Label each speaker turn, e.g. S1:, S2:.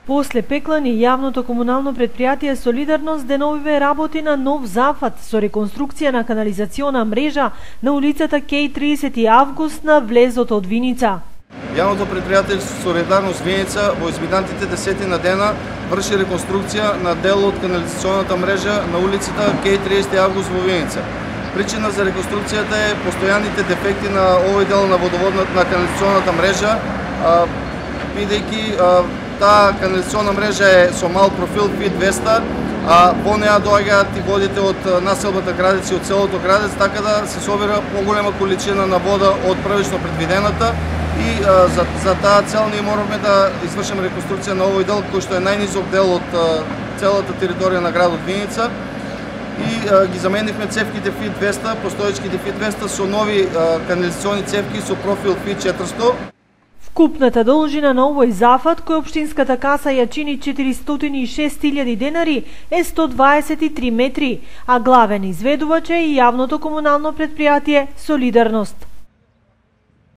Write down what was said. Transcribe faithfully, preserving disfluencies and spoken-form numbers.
S1: После Пеклани, јавното комунално предпријатие Солидарност деновиве работи на нов зафат со реконструкција на канализациона мрежа на улицата Кеј тридесети август на влезот од Виница.
S2: Јавното предпријатие Солидарност Виница во изминатите десети на дена врши реконструкција на дел од канализационата мрежа на улицата Кеј тридесети август во Виница. Причина за реконструкцијата е постојаните дефекти на овој дел на водоводната на канализационата мрежа, бидејќи таа канализациона мрежа е со мал профил Фи двеста, а во неа доаѓаат и водите од населбата Градец и од селото Градец, така да се собира поголема количина на вода од првично предвидената и а, за, за таа цел ние мораме да извршиме реконструкција на овој дел кој што е најнизок дел од а, целата територија на градот Виница и а, ги заменивме цевките Фи двеста, постоечките Фи двеста со нови а, канализациони цевки со профил Фи четиристо.
S1: Вкупната должина на овој зафат, кој општинската каса ја чини четиристотини и шест илјади денари, е сто дваесет и три метри, а главен изведувач е и јавното комунално предпријатие Солидарност.